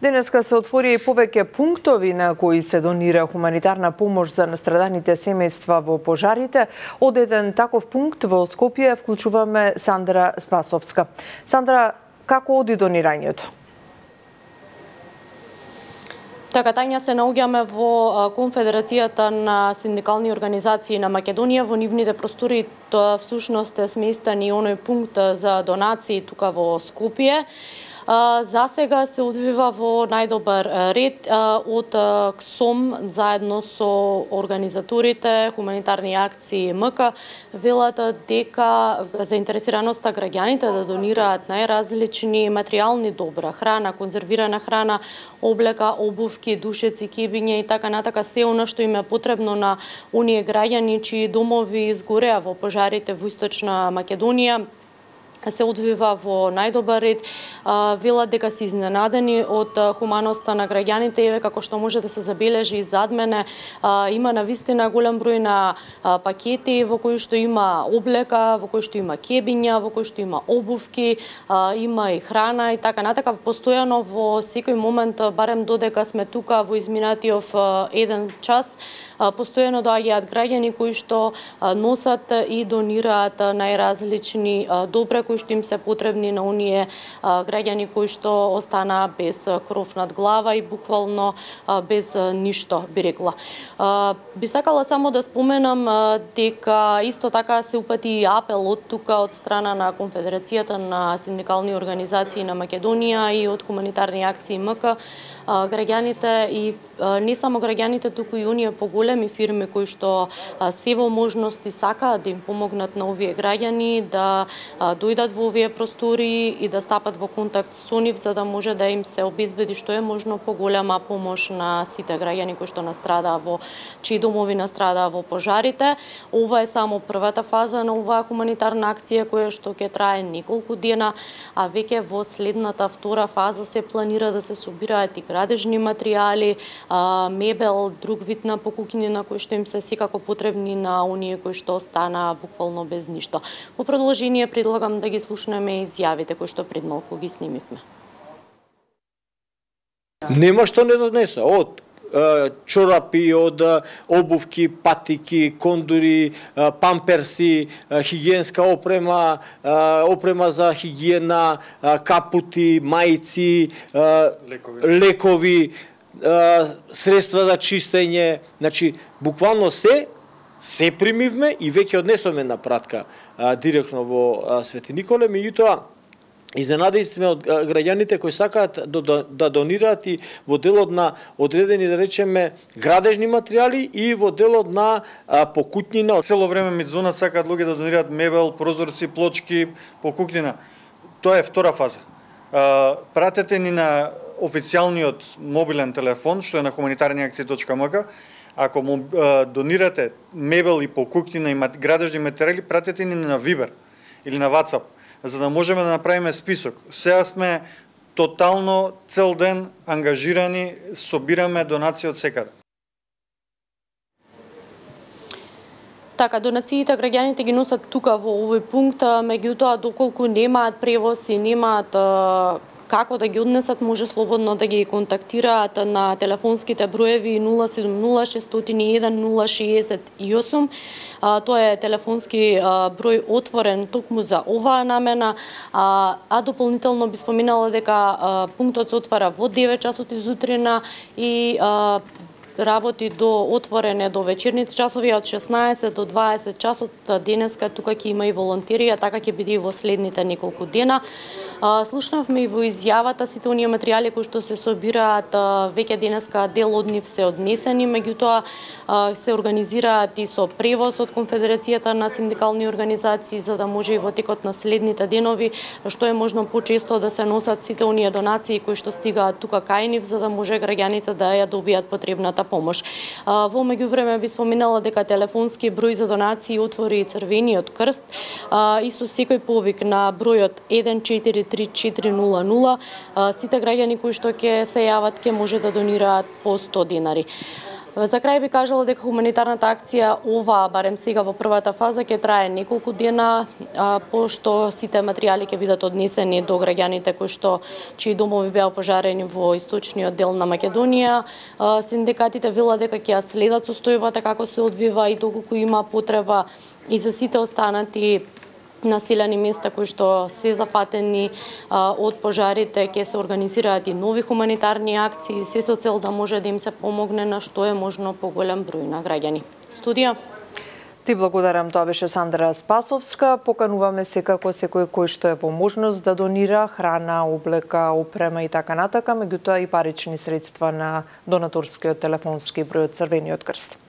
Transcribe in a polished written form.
Денеска се отвори повеќе пунктови на кои се донира хуманитарна помош за настраданите семејства во пожарите. Од еден таков пункт во Скопје вклучуваме Сандра Спасовска. Сандра, како оди донирањето? Така, Тања, се наоѓаме во Конфедерацијата на синдикални организации на Македонија. Во нивните простори всушност е сместен и оној пункт за донации тука во Скопје. За сега се одвива во најдобар ред од КСОМ заедно со организаторите, хуманитарни акции МК, велат дека заинтересираноста граѓаните да донираат најразлични материјални добра, храна, конзервирана храна, облека, обувки, душеци, кебиња и така натака, се она што им е потребно на оние граѓани чии домови изгореа во пожарите во Источна Македонија, се одвива во најдобар ред. Велат дека се изненадени од хуманоста на граѓаните, еве како што може да се забележи и зад мене, има навистина голем број на пакети во кои што има облека, во кои што има кебиња, во кои што има обувки, има и храна и така натака. Постојано во секој момент, барем додека сме тука во изминатиот 1 час, постојано доаѓаат граѓани кои што носат и донираат најразлични добра кои што им се потребни на оние граѓани кои што останаа без кров над глава и буквално без ништо, би рекла. Би сакала само да споменам дека исто така се упати и апел од тука од страна на Конфедерацијата на синдикални организации на Македонија и од хуманитарни акции МК, граѓаните и не само граѓаните, туку и оние поголеми фирми кои што се во можности сакаат да им помогнат на овие граѓани да дојдат во овие простори и да стапат во контакт со нив за да може да им се обезбеди што е можно поголема помош на сите граѓани кои што настрадаа во чии домови настрадаа во пожарите. Ова е само првата фаза на оваа хуманитарна акција која што ќе трае неколку дена, а веќе во следната втора фаза се планира да се собираат и градежни материјали, мебел, друг вид на покукнина кои што им се секако потребни на оние кои што останаа буквално без ништо. Во продолжение предлагам да ги слушнеме изјавите кои што пред малку ги снимивме. Нема што не донеса, од чорапи, од обувки, патики, кондури, памперси, хигиенска опрема, опрема за хигиена, капути, мајци, лекови, средства за чистење, значи буквално се примивме и веќе однесоме на пратка директно во Свети Николе, меѓутоа изненадени сме од граѓаните кои сакаат да донираат и во делот на одредени, да речеме, градежни материјали и во делот на покутнина. Цело време ми звонат, сакаат луѓе да донираат мебел, прозорци, плочки, покукнина. Тоа е втора фаза. Пратете ни на официјалниот мобилен телефон, што е на humanitarniakcije.mk. Ако му донирате мебел и покукнина и градежни материјали, пратете ни на Viber или на WhatsApp, за да можеме да направиме список. Сега сме тотално цел ден ангажирани, собираме донации од секаде. Така, донациите граѓаните ги носат тука во овој пункт, меѓутоа доколку немаат превоз и немаат како да ги однесат, може слободно да ги контактираат на телефонските броеви 070-601-068. Тоа е телефонски број отворен токму за оваа намена, а дополнително би споменала дека пунктот се отвара во 9 часот изутрина и работи до отворене до вечерните часови од 16 до 20 часот. Денеска тука ќе има и волонтери, а така ќе биде и во следните неколку дена. Слушнавме и во изјавата сите оние материјали кои што се собираат, веќе денеска дел од нив се однесени, меѓутоа се организираат и со превоз од Конфедерацијата на синдикални организации за да може и во текот на следните денови што е можно почесто да се носат сите оние донации кои што стигаат тука кај нив за да може граѓаните да ја добијат потребната помош. Во меѓувреме би споменала дека телефонски број за донации отвори Црвениот крст и со секој повик на бројот 143400 сите граѓани кои што ќе се јават ќе може да донираат по 100 денари. За крај би кажала дека хуманитарната акција ова, барем сега во првата фаза, ќе трае неколку дена, пошто сите материјали ќе бидат однесени до граѓаните чии домови беа пожарени во источниот дел на Македонија. Синдикатите велат дека ќе ја следат состојбата како се одвива и доколку има потреба и за сите останати населени места кои што се зафатени од пожарите, ќе се организираат и нови хуманитарни акции, се со цел да може да им се помогне на што е можно поголем број на граѓани. Студија. Ти благодарам, тоа беше Сандра Спасовска. Покануваме секако секој кој што е во можност да донира храна, облека, опрема и така натака, меѓутоа и парични средства на донаторскиот телефонски број од Црвениот крст.